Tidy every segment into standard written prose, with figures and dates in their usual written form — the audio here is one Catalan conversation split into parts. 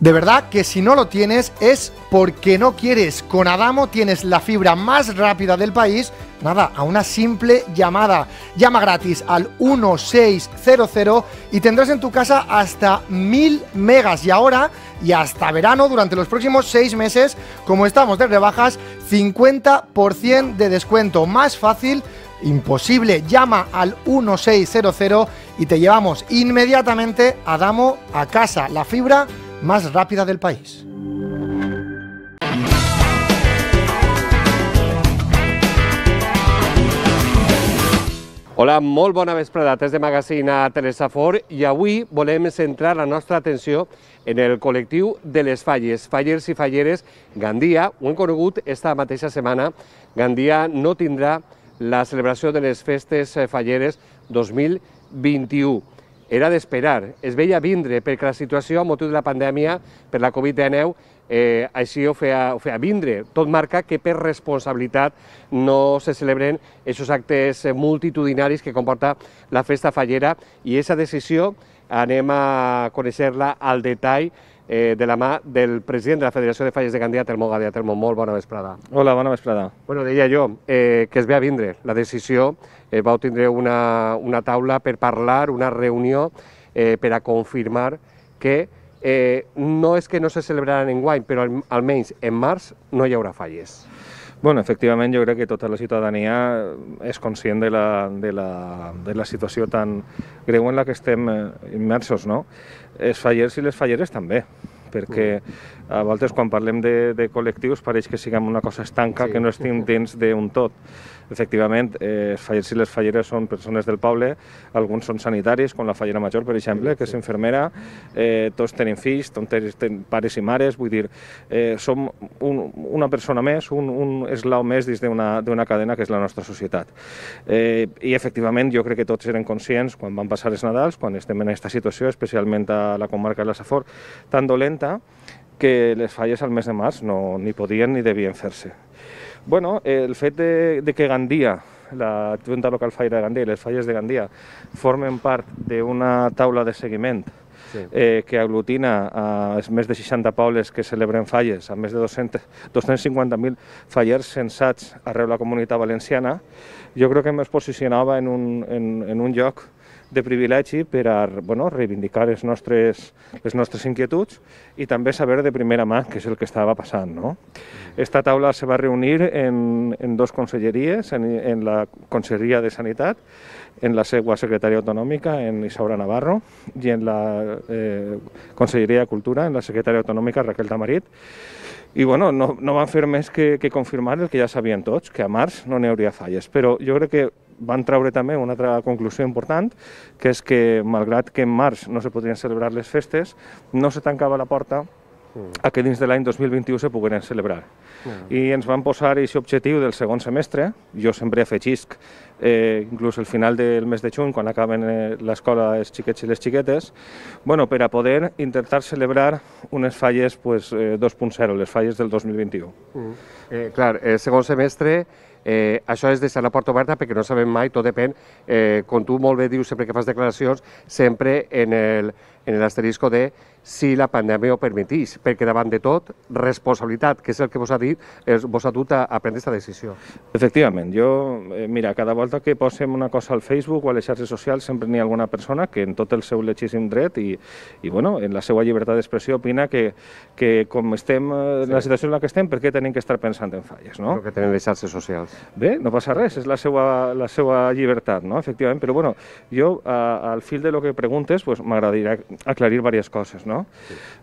De verdad que si no lo tienes es porque no quieres. Con Adamo tienes la fibra más rápida del país, nada, a una simple llamada. Llama gratis al 1600 y tendrás en tu casa hasta 1000 megas. Y ahora, y hasta verano, durante los próximos 6 meses, como estamos de rebajas, 50% de descuento. Más fácil imposible. Llama al 1600 y te llevamos inmediatamente Adamo a casa. La fibra más rápida del país. Hola, molt bona vesprada, des de Magazine a Telesafor, i avui volem centrar la nostra atenció en el col·lectiu de les falles, fallers i falleres Gandia. Ho hem conegut esta mateixa setmana. Gandia no tindrà la celebració de les festes falleres 2021. Era d'esperar, es veia vindre, perquè la situació a motiu de la pandèmia per la Covid-19 així ho feia vindre. Tot marca que per responsabilitat no se celebren aquests actes multitudinaris que comporta la festa fallera, i aquesta decisió anem a conèixer-la al detall de la mà del president de la Federació de Falles de Gandia, Telmo Gadea. Telmo, molt bona vesprada. Hola, bona vesprada. Bueno, deia jo que es ve a vindre la decisió, vau tindre una taula per parlar, una reunió per a confirmar que no és que no se celebraran enguany, però almenys en març no hi haurà falles. Bueno, efectivament, jo crec que tota la ciutadania és conscient de la situació tan greu en la que estem immersos, no? Els fallers i les falleres també, perquè a voltes quan parlem de col·lectius pareix que siguem una cosa estanca, que no estem dins d'un tot. Efectivament, els fallers i les falleres són persones del poble, alguns són sanitaris, com la fallera major, per exemple, que és infermera, tots tenen fills, tots tenen pares i mares, vull dir, som una persona més, un eslau més dins d'una cadena que és la nostra societat. I efectivament jo crec que tots eren conscients quan van passar els Nadals, quan estem en aquesta situació, especialment a la comarca de la Safor, tan dolenta, que les falles al mes de març no ni podien ni devien fer-se. Bueno, el fet de que Gandia, la Junta Local Fallera de Gandia i les falles de Gandia formen part d'una taula de seguiment que aglutina a més de 60 pobles que celebren falles, a més de 250.000 fallers censats arreu la Comunitat Valenciana, jo crec que ens posicionava en un lloc de privilegi per a reivindicar les nostres inquietuds i també saber de primera mà què és el que estava passant. Esta taula se va reunir en dos conselleries, en la Conselleria de Sanitat, en la seva secretària autonòmica, en Isaura Navarro, i en la Conselleria de Cultura, en la secretària autonòmica, Raquel Tamarit. I bueno, no van fer més que confirmar el que ja sabien tots, que a març no n'hi hauria falles. Però jo crec que van treure també una altra conclusió important, que és que, malgrat que en març no se podrien celebrar les festes, no se tancava la porta a que dins de l'any 2021 se pogueren celebrar. I ens van posar aquest objectiu del segon semestre, jo sempre afegisc, inclús al final del mes de juny, quan acaben l'escola els xiquets i les xiquetes, per a poder intentar celebrar unes falles 2.0, les falles del 2021. Clar, el segon semestre, això és deixar la porta oberta perquè no sabem mai, tot depèn, com tu molt bé dius sempre que fas declaracions, sempre en l'asterisco de si la pandèmia ho permetís, perquè davant de tot, responsabilitat, que és el que vos ha dit, vos ha dut a prendre aquesta decisió. Efectivament, mira, cada volta que posem una cosa al Facebook o a les xarxes socials sempre n'hi ha alguna persona que en tot el seu legítim dret i en la seva llibertat d'expressió opina que com estem en la situació en la que estem, per què tenim que estar pensant en falles, no? El que tenen les xarxes socials. Bé, no passa res, és la seva llibertat, no? Efectivament, però jo al fil de lo que preguntes m'agradaria aclarir diverses coses, no?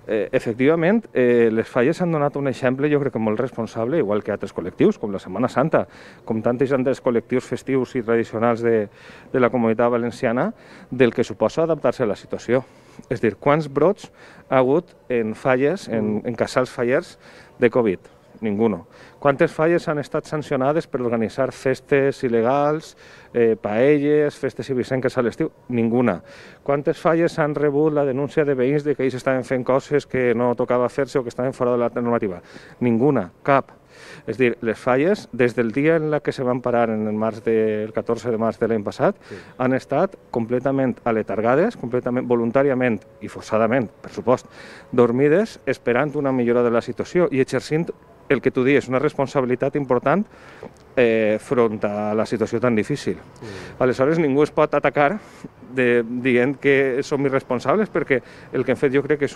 Efectivament, les falles han donat un exemple, jo crec que molt responsable, igual que altres col·lectius, com la Setmana Santa, com tantes altres col·lectius festius i tradicionals de la Comunitat Valenciana, del que suposa adaptar-se a la situació. És a dir, quants brots ha hagut en falles, en casals fallers de Covid? Ninguno. Quantes falles han estat sancionades per organitzar festes il·legals, paelles, festes ibicenques a l'estiu? Ninguna. Quantes falles han rebut la denúncia de veïns de que ells estaven fent coses que no tocava fer-se o que estaven fora de la normativa? Ninguna, cap. És a dir, les falles, des del dia en què se van parar el 14 de març de l'any passat, han estat completament aletargades, completament voluntàriament i forçadament, per supost, dormides, esperant una millora de la situació i exercint el que tu dius, una responsabilitat important front a la situació tan difícil. Aleshores, ningú es pot atacar dient que som irresponsables perquè el que hem fet jo crec que és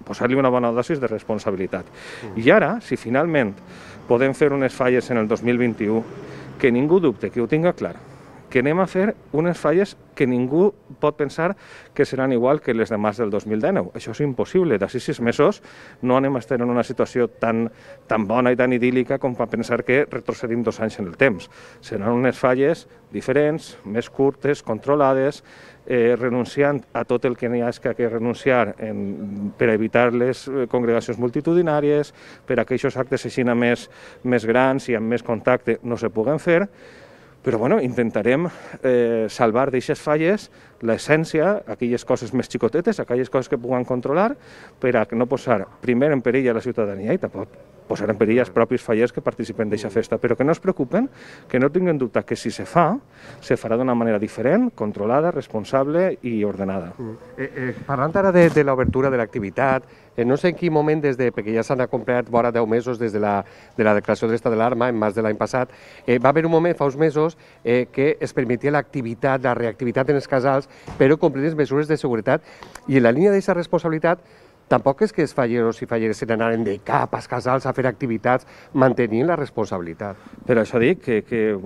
posar-li una bona dosis de responsabilitat. I ara, si finalment podem fer unes falles en el 2021, que ningú dubte, que ho tinga clar, que anem a fer unes falles que ningú pot pensar que seran igual que les de març del 2019. Això és impossible. D'ací 6 mesos no anem a estar en una situació tan bona i tan idíl·lica com per pensar que retrocedim 2 anys en el temps. Seran unes falles diferents, més curtes, controlades, renunciant a tot el que n'hi ha que renunciar per evitar les congregacions multitudinàries, per a aquells actes així més grans i amb més contacte no se puguen fer, però bueno, intentarem salvar d'aixes falles l'essència, aquelles coses més xicotetes, aquelles coses que puguen controlar, per a no posar primer en perill a la ciutadania i tampoc posar en perill els propis fallers que participen d'aquesta festa, però que no es preocupen, que no tinguin dubte que si se fa, se farà d'una manera diferent, controlada, responsable i ordenada. Parlant ara de l'obertura de l'activitat, no sé en quin moment, perquè ja s'han complert vora 10 mesos des de la declaració de l'estat d'alarma, en març de l'any passat, va haver un moment, fa uns mesos, que es permetia l'activitat, la reactivitat en els casals, però complir les mesures de seguretat. I en la línia d'aquesta responsabilitat, tampoc és que els falleros i falleres se n'anaren de cap als casals a fer activitats mantenint la responsabilitat. Per això dic que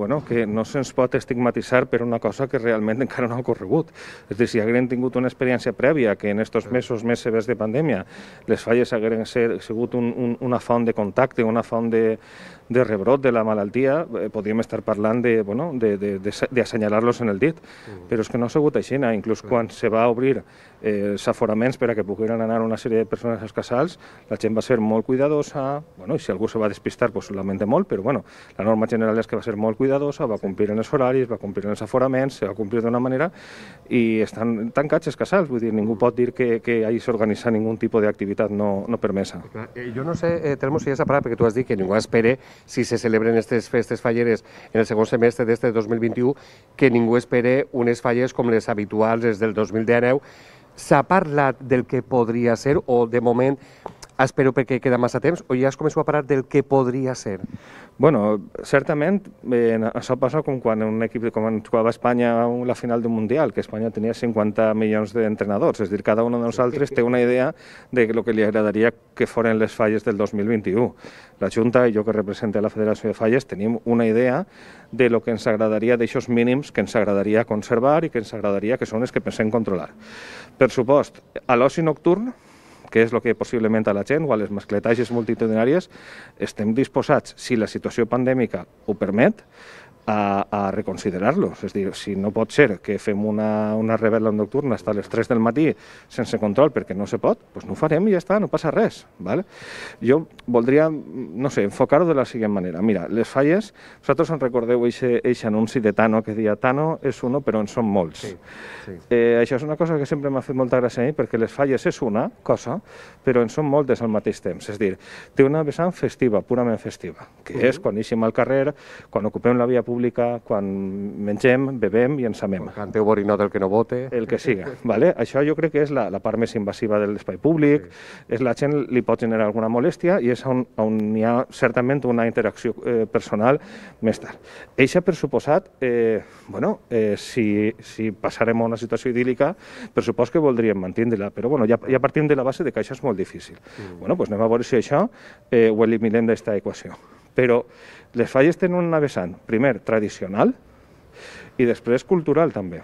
no se'ns pot estigmatitzar per una cosa que realment encara no ha ocorregut. És a dir, si haguem tingut una experiència prèvia que en aquests mesos més severs de pandèmia les falles hagueren sigut una font de contacte, una font de rebrot de la malaltia, podríem estar parlant d'assenyalar-los en el dit, però és que no ha sigut així. Inclús quan se va obrir els aforaments per a que pogueren anar una sèrie de persones als casals, la gent va ser molt cuidadosa, i si algú se va despistar, ho lamenta molt, però la norma general és que va ser molt cuidadosa, va complir en els horaris, va complir en els aforaments, se va complir d'una manera, i estan tancats els casals, vull dir, ningú pot dir que hagi s'organitzar ningun tipus d'activitat no permesa. Jo no sé, Telmo, si ja s'ha parat, perquè tu has dit que ningú espera, si se celebren aquestes festes falleres en el segon semestre d'este 2021, que ningú espera unes falles com les habituals, les del 2019. S'ha parlat del que podria ser o de moment espero perquè queda massa temps o ja es començo a parlar del que podria ser? Bueno, certament això passa com quan un equip com jugava a Espanya la final d'un Mundial, que Espanya tenia 50 milions d'entrenadors, és a dir, cada un de nosaltres té una idea de lo que li agradaria que foren les falles del 2021. La Junta i jo que represento la Federació de Falles tenim una idea de lo que ens agradaria, d'aixòs mínims que ens agradaria conservar i que ens agradaria que són els que pensem controlar. Per supost, a l'oci nocturn, que és el que possiblement a la gent o a les mascletages multitudinàries, estem disposats, si la situació pandèmica ho permet, a reconsiderar-los. És a dir, si no pot ser que fem una rebel·la nocturna fins a les 3 del matí sense control perquè no se pot, doncs no ho farem i ja està, no passa res. Jo voldria, no sé, enfocar-ho de la següent manera. Mira, les falles, vosaltres en recordeu aquest anunci de Tano que deia Tano és uno però en són molts. Això és una cosa que sempre m'ha fet molta gràcia a mi perquè les falles és una cosa però en són moltes al mateix temps. És a dir, té una vessant festiva, purament festiva, que és quan eixim al carrer, quan ocupem la via pública, quan mengem, bebem i ens amem. Quan canteu borinot el que no vote. El que siga. Això jo crec que és la part més invasiva de l'espai públic, la gent li pot generar alguna molèstia i és on hi ha certament una interacció personal més tard. Eixa, per suposat, si passarem a una situació idíl·lica, per supost que voldríem mantindre-la, però ja partim de la base de que això és molt difícil. Anem a veure si això ho eliminem d'aquesta equació. Però les falles tenen una vessant, primer, tradicional i després cultural també,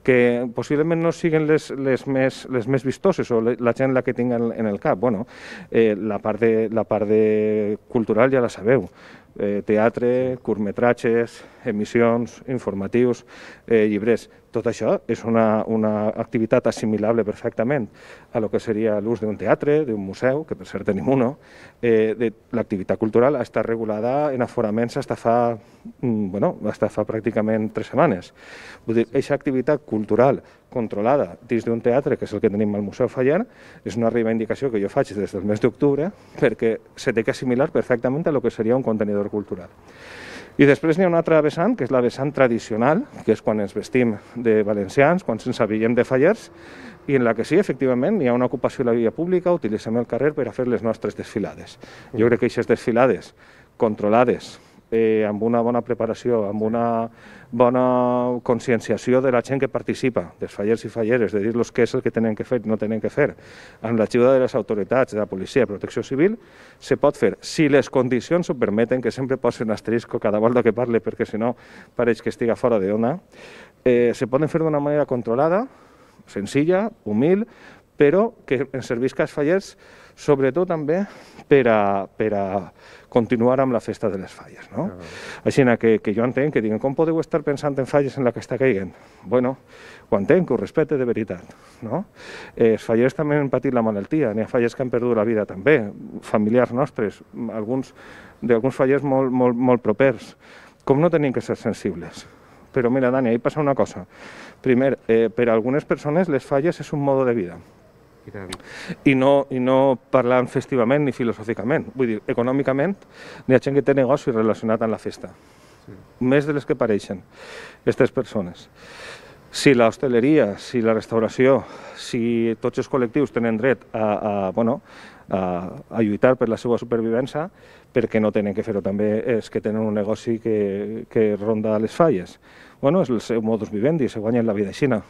que possiblement no siguin les més vistoses o la gent la que tinga en el cap. La part cultural ja la sabeu. teatre, curtmetratges, emissions, informatius, llibres. Tot això és una activitat assimilable perfectament a lo que seria l'ús d'un teatre, d'un museu, que per cert tenim uno. L'activitat cultural està regulada en aforaments fins fa pràcticament 3 setmanes. Vull dir, aquesta activitat cultural controlada dins d'un teatre, que és el que tenim al Museu Faller, és una reivindicació que jo faig des del mes d'octubre perquè se té que assimilar perfectament a lo que seria un contenidor cultural. I després n'hi ha una altra vessant, que és la vessant tradicional, que és quan ens vestim de valencians, quan ens avillem de fallers, i en la que sí, efectivament, hi ha una ocupació de la via pública, utilitzem el carrer per a fer les nostres desfilades. Jo crec que aquestes desfilades controlades, amb una bona preparació, amb una bona conscienciació de la gent que participa, dels fallers i falleres, de dir-los què és el que tenen que fer i no tenen que fer, amb l'ajuda de les autoritats, de la policia, de protecció civil, se pot fer. Si les condicions ho permeten, que sempre posi un asterisco cada volta que parle, perquè si no pareix que estiga fora d'ona, se poden fer d'una manera controlada, senzilla, humil, però que ens servisca als fallers, sobretot també per a continuar amb la festa de les falles. Així que jo entenc que diguen com podeu estar pensant en falles en la que està caigant? Bueno, ho entenc, que ho respecte de veritat. Els fallers també han patit la malaltia, n'hi ha fallers que han perdut la vida també, familiars nostres, d'alguns fallers molt propers. Com no tenim que ser sensibles? Però mira, Dani, ahí passa una cosa. Primer, per a algunes persones les falles és un mode de vida. I no parlant festivament ni filosòficament. Vull dir, econòmicament n'hi ha gent que té negoci relacionat amb la festa. Més de les que pareixen, aquestes persones. Si l'hostaleria, si la restauració, si tots els col·lectius tenen dret a lluitar per la seva supervivència, perquè no tenen que fer-ho també els que tenen un negoci que ronda les falles. Bueno, és el seu modus vivendi, se guanyen la vida aixina.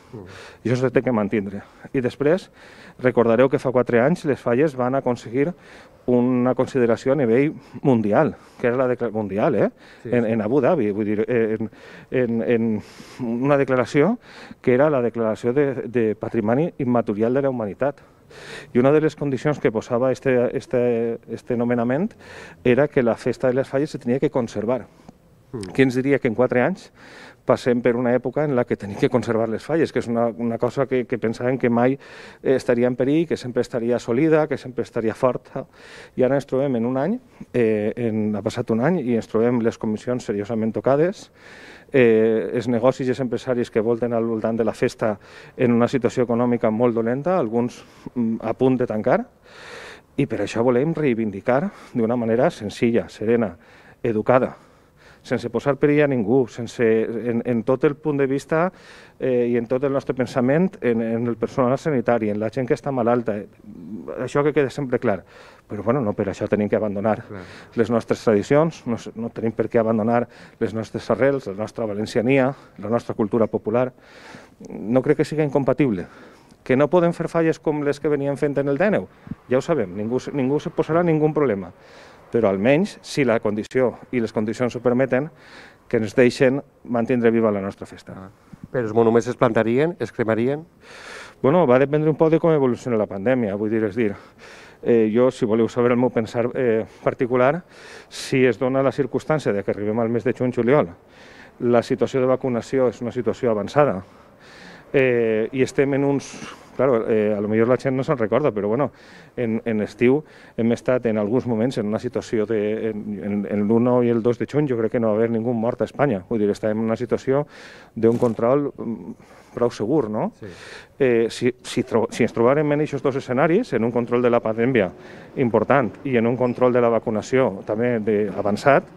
I això s'ha de mantenir. I després, recordareu que fa 4 anys les falles van aconseguir una consideració a nivell mundial, que era la declaració mundial, en Abu Dhabi, vull dir, en una declaració que era la declaració de patrimoni immaterial de la humanitat. I una de les condicions que posava este nomenament era que la festa de les falles se tenia que conservar. Qui ens diria que en 4 anys passem per una època en la que tenim que conservar les falles, que és una cosa que pensàvem que mai estaria en perill, que sempre estaria sòlida, que sempre estaria forta. I ara ens trobem en un any, ha passat un any, i ens trobem les comissions seriosament tocades, els negocis i els empresaris que volten al voltant de la festa en una situació econòmica molt dolenta, alguns a punt de tancar, i per això volem reivindicar d'una manera senzilla, serena, educada, sense posar perill a ningú, en tot el punt de vista i en tot el nostre pensament en el personal sanitari, en la gent que està malalta, això que queda sempre clar. Però no per això tenim que abandonar les nostres tradicions, no tenim per què abandonar les nostres arrels, la nostra valenciania, la nostra cultura popular. No crec que sigui incompatible. Que no poden fer falles com les que venien fent en el D9, ja ho sabem, ningú se posarà ningú problema. Però almenys, si la condició i les condicions ho permeten, que ens deixen mantenir viva la nostra festa. Però els monuments es plantarien, es cremarien? Bueno, va dependre un poc de com evoluciona la pandèmia, vull dir, jo, si voleu saber el meu pensar particular, si es dona la circumstància de que arribem al mes de juny-juliol, la situació de vacunació és una situació avançada, i estem en uns... Claro, a lo millor la gent no se'n recorda, però bueno, en estiu hem estat en alguns moments en una situació en l'1 i el 2 de juny jo crec que no va haver ningú mort a Espanya. Vull dir, estàvem en una situació d'un control prou segur, no? Si ens trobàrem en aquests 2 escenaris, en un control de la pandèmia important i en un control de la vacunació també avançat,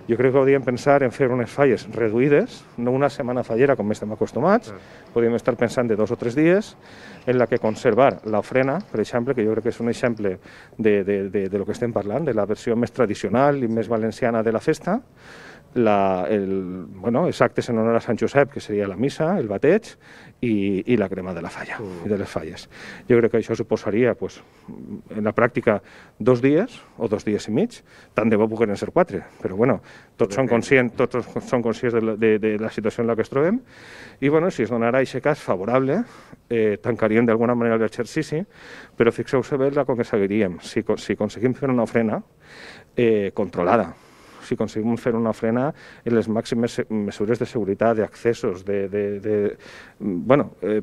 jo crec que hauríem pensar en fer unes falles reduïdes, no una setmana fallera com estem acostumats, podríem estar pensant de 2 o 3 dies, en la que conservar l'ofrena, per exemple, que jo crec que és un exemple de lo que estem parlant, de la versió més tradicional i més valenciana de la festa, els actes en honor a Sant Josep, que seria la missa, el bateig i la crema de la falla i de les falles. Jo crec que això suposaria, en la pràctica, 2 dies o 2 dies i mig, tant de bo pogueren ser 4, però bueno, tots són conscients de la situació en la que es trobem, i si es donarà aquest cas favorable, tancaríem d'alguna manera l'exercici, però fixeu-se bé com que seguiríem. Si aconseguim fer una ofrena controlada, si aconseguim fer una frena en les màximes mesures de seguretat, d'accessos,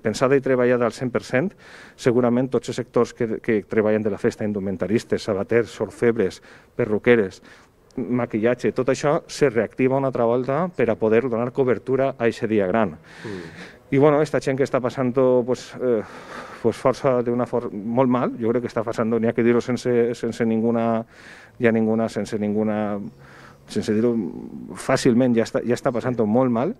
pensada i treballada al 100%, segurament tots els sectors que treballen de la festa, indumentaristes, sabaters, orfebres, perruqueres, maquillatge, tot això se reactiva una altra volta per a poder donar cobertura a aquest dia gran. I bueno, aquesta gent que està passant força d'una forma molt mal, jo crec que està passant, n'hi ha que dir-ho sense dir-ho fàcilment, ja està passant molt mal,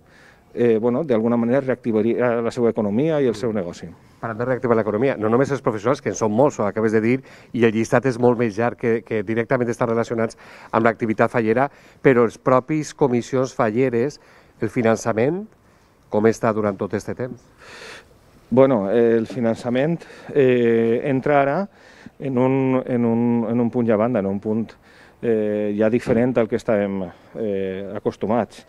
d'alguna manera reactivaria la seva economia i el seu negoci. Parlant de reactivar l'economia, no només els professionals, que en són molts, ho acabes de dir, i el llistat és molt més llarg que directament estan relacionats amb l'activitat fallera, però els propis comissions falleres, el finançament, com està durant tot aquest temps? Bueno, el finançament entra ara en un punt ja banda, en un punt ja diferent al que estàvem acostumats.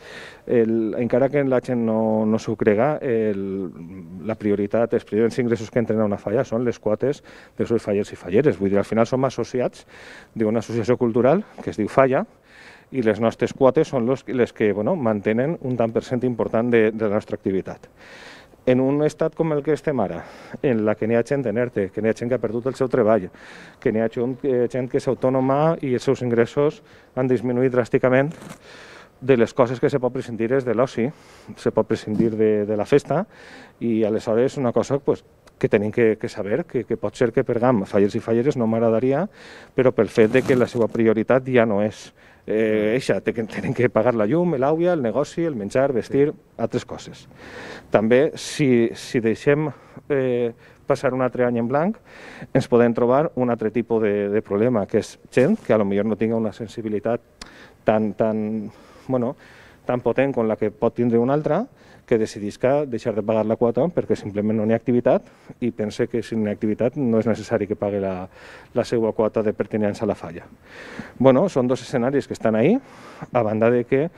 Encara que la gent no s'ho crega, la prioritat, els primers ingressos que entren a una falla són les quotes dels seus fallers i falleres. Vull dir, al final som associats d'una associació cultural que es diu Falla, i les nostres quotes són les que mantenen un tant per cent important de la nostra activitat. En un estat com el que estem ara, en la que n'hi ha gent en ERTE, que n'hi ha gent que ha perdut el seu treball, que n'hi ha gent que és autònoma i els seus ingressos han disminuït dràsticament, de les coses que se pot prescindir és de l'oci, se pot prescindir de la festa, i aleshores una cosa que tenim que saber, que pot ser que per GAM, fallers i falleres, no m'agradaria, però pel fet que la seva prioritat ja no és eixa, tenen que pagar la llum, l'aigua, el negoci, el menjar, vestir, altres coses. També, si deixem passar un altre any en blanc, ens podem trobar un altre tipus de problema, que és gent que potser no tinga una sensibilitat tan potent com la que pot tindre una altra, que decidisca deixar de pagar la quota perquè simplement no hi ha activitat i pensa que si no hi ha activitat no és necessari que pagui la seva quota de pertinença a la falla. Són dos escenaris que estan ahí, a banda de que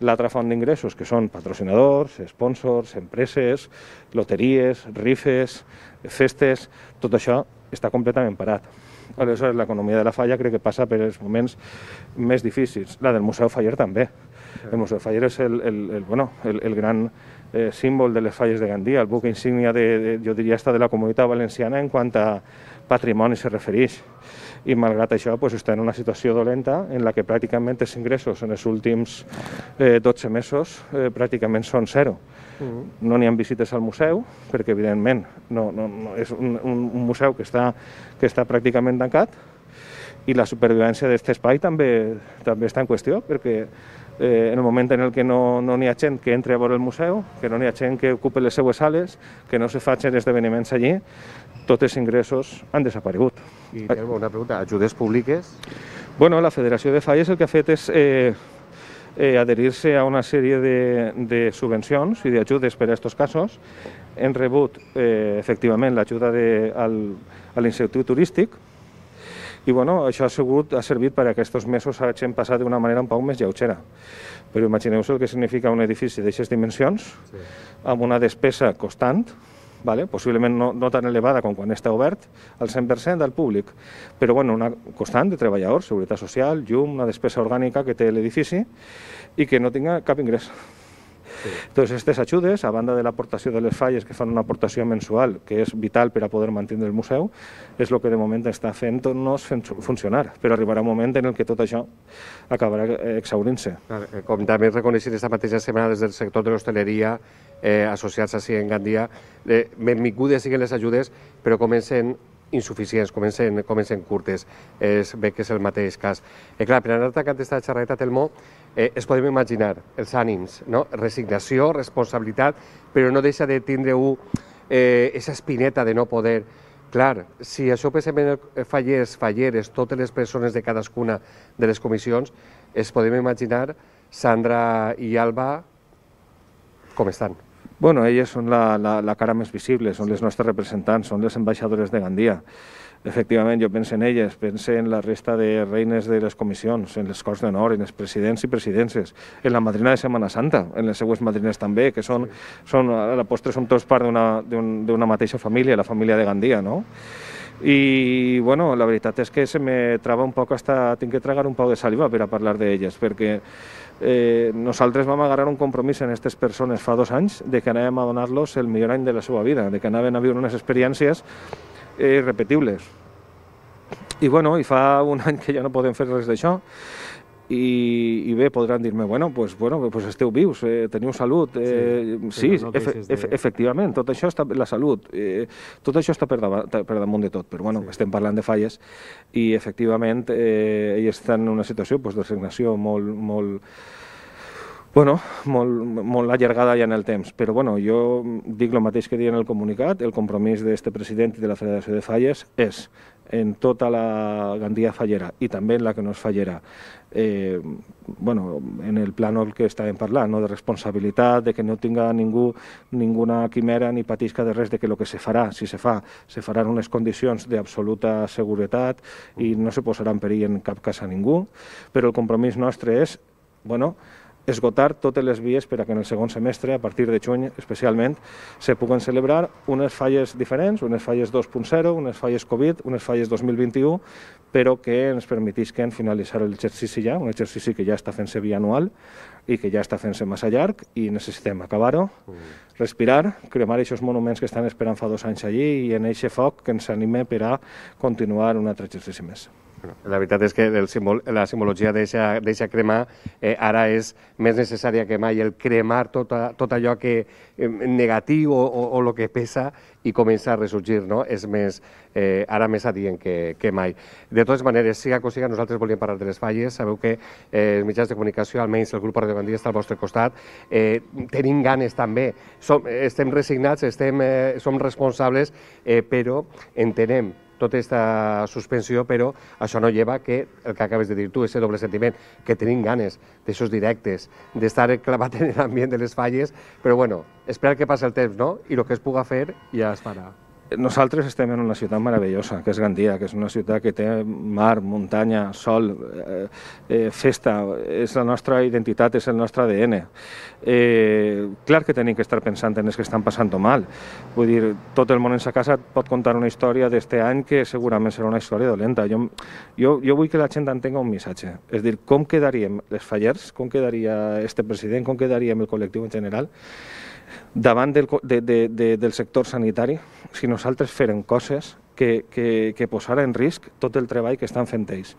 l'altra font d'ingressos, que són patrocinadors, sponsors, empreses, loteries, rifes, festes, tot això està completament parat. Aleshores, l'economia de la falla crec que passa per els moments més difícils. La del Museu Faller també. El Museu Faller és el gran símbol de les falles de Gandia, el buc insígnia, jo diria, de la comunitat valenciana en quant a patrimoni se refereix. I malgrat això està en una situació dolenta en la que pràcticament els ingressos en els últims 12 mesos pràcticament són zero. No n'hi ha visites al museu, perquè evidentment és un museu que està pràcticament tancat, i la supervivència d'aquest espai també està en qüestió, perquè en el moment en què no n'hi ha gent que entri a veure el museu, que no n'hi ha gent que ocupi les seues sales, que no se facin esdeveniments allí, tots els ingressos han desaparegut. I una pregunta, ajudes públiques? La Federació de Falles el que ha fet és adherir-se a una sèrie de subvencions i d'ajudes per a aquests casos. Hem rebut efectivament l'ajuda a l'Institut Turístic, i això ha servit perquè aquests mesos hagin passat d'una manera un poc més lleugera. Però imagineu-vos el que significa un edifici d'aquestes dimensions, amb una despesa constant, possiblement no tan elevada com quan està obert al 100% al públic, però una constant de treballadors, seguretat social, llum, una despesa orgànica que té l'edifici i que no tinga cap ingrés. Doncs aquestes ajudes, a banda de l'aportació de les falles, que fan una aportació mensual, que és vital per a poder mantenir el museu, és el que de moment està fent-nos funcionar, però arribarà un moment en què tot això acabarà exhaurint-se. Com també reconeixen aquesta mateixa setmana des del sector de l'hostaleria, associats així en Gandia, benvingudes siguin les ajudes, però comencen insuficients, comencen curtes. Bé que és el mateix cas. Clar, per anar tancant aquesta xerradeta, Telmo, es podem imaginar els ànims, resignació, responsabilitat, però no deixa de tindre aquesta espineta de no poder. Clar, si això pensem en fallers, falleres, totes les persones de cadascuna de les comissions, es podem imaginar Sandra i Alba com estan. Elles són la cara més visible, són les nostres representants, són les ambaixadores de Gandia. Efectivament, jo penso en elles, penso en la resta de reines de les comissions, en les Corts d'Honor, en els presidents i presidències, en la madrina de Setmana Santa, en les seues madrines també, que a la postre som tots part d'una mateixa família, la família de Gandia, no? I bueno, la veritat és que se me trava un poc, tinc que tragar un poc de saliva per a parlar d'elles, perquè nosaltres vam agarrar un compromís en aquestes persones fa 2 anys de que anàvem a donar-los el millor any de la seva vida, de que anaven a viure unes experiències irrepetibles. I bueno, i fa 1 any que ja no podem fer res d'això. I bé, podran dir-me, bueno, pues esteu vius, teniu salut. Sí, efectivament, tot això està, la salut, tot això està per damunt de tot, però bueno, estem parlant de falles i efectivament ells estan en una situació de resignació molt allargada ja en el temps, però bueno, jo dic el mateix que deia en el comunicat, el compromís d'aquest president i de la Federació de Falles és en tota la Gandia fallera i també en la que no és fallera, en el plànol que estàvem parlant, de responsabilitat, de que no tinga ningú ninguna quimera ni patisca de res, de que el que se farà, si se farà en unes condicions d'absoluta seguretat i no se posarà en perill en cap cas a ningú, però el compromís nostre és, esgotar totes les vies per a que en el segon semestre, a partir de juny especialment, se puguen celebrar unes falles diferents, unes falles 2.0, unes falles Covid, unes falles 2021, però que ens permetisquen finalitzar l'exercici ja, un exercici que ja està fent-se bianual i que ja està fent-se massa llarg i necessitem acabar-ho, respirar, cremar aquests monuments que estan esperant fa 2 anys allí i en aquest foc que ens anima per a continuar un altre exercici més. La veritat és que la simbologia d'eixa crema ara és més necessària que mai, el cremar tot allò que negatiu o el que pesa i comença a ressorgir, no? És ara més adient que mai. De totes maneres, siga com siga, nosaltres volíem parlar de les falles, sabeu que els mitjans de comunicació, almenys el grup Radio Gandia està al vostre costat, tenim ganes també, estem resignats, som responsables, però entenem tota aquesta suspensió, però això no lleva que el que acabes de dir tu, aquest doble sentiment, que tenim ganes d'aixòs directes, d'estar clavat en l'ambient de les falles, però bueno, esperar que passi el temps, no? I el que es puga fer ja es farà. Nosaltres estem en una ciutat meravellosa, que és Gandia, que és una ciutat que té mar, muntanya, sol, festa, és la nostra identitat, és el nostre ADN. Clar que tenim que estar pensant en els que estan passant mal. Vull dir, tot el món en sa casa pot contar una història d'este any que segurament serà una història dolenta. Jo vull que la gent entenga un missatge. És dir, com quedaríem les fallers, com quedaria este president, com quedaríem el col·lectiu en general, davant del sector sanitari, si nosaltres fèrem coses que posara en risc tot el treball que estan fent ells.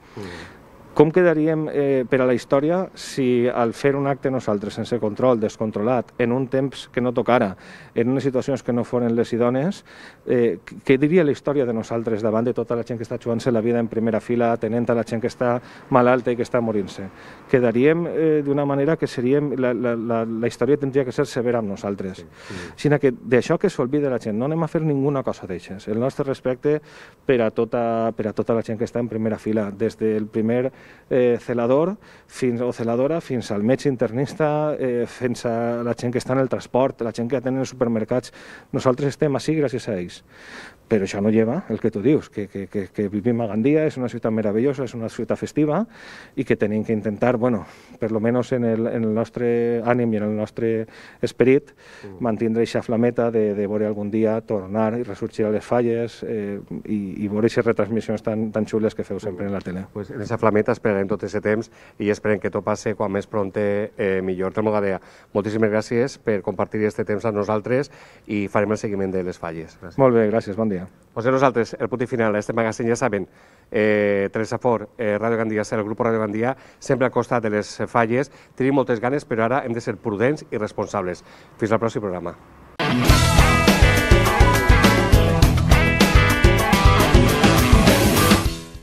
Com quedaríem per a la història si al fer un acte nosaltres sense control, descontrolat, en un temps que no tocara, en unes situacions que no foren les idònies, què diria la història de nosaltres davant de tota la gent que està jugant-se la vida en primera fila, atenent a la gent que està malalta i que està morint-se? Quedaríem d'una manera que la història tindria que ser severa amb nosaltres. Sinó que d'això que s'olvida la gent, no anem a fer ninguna cosa d'aixes. El nostre respecte per a tota la gent que està en primera fila, des del primer celador o celadora fins al metge internista, fins a la gent que està en el transport, la gent que atén en els supermercats. Nosaltres estem així gràcies a ells. Però això no lleva el que tu dius, que vivim a Gandia, és una ciutat meravellosa, és una ciutat festiva i que tenim que intentar, per lo menos en el nostre ànim i en el nostre esperit, mantindre aquesta flameta de veure algun dia tornar i ressorgir a les falles i veure aquestes retransmissions tan xules que feu sempre en la tele. En aquesta flameta esperarem tot aquest temps i esperem que tot passi quan més prompte millor. Telmo Gadea, moltíssimes gràcies per compartir aquest temps amb nosaltres i farem el seguiment de les falles. Molt bé, gràcies, bon dia. Pues nosaltres, el punt i final, este magazín ja saben, Teresa Fort, Radio Gandia, el grup Radio Gandia, sempre al costat de les falles. Tenim moltes ganes, però ara hem de ser prudents i responsables. Fins al pròxim programa.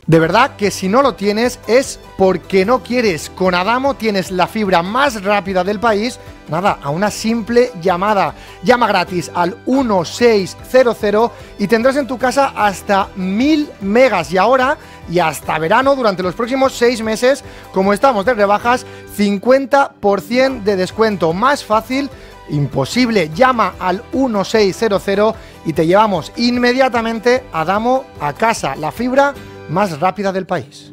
De verdad que si no lo tienes es porque no quieres. Con Adamo tienes la fibra más rápida del país, nada, a una simple llamada. Llama gratis al 1600 y tendrás en tu casa hasta 1000 megas. Y ahora, y hasta verano, durante los próximos 6 meses, como estamos de rebajas, 50% de descuento. Más fácil, imposible. Llama al 1600 y te llevamos inmediatamente Adamo a casa. La fibra más rápida del país.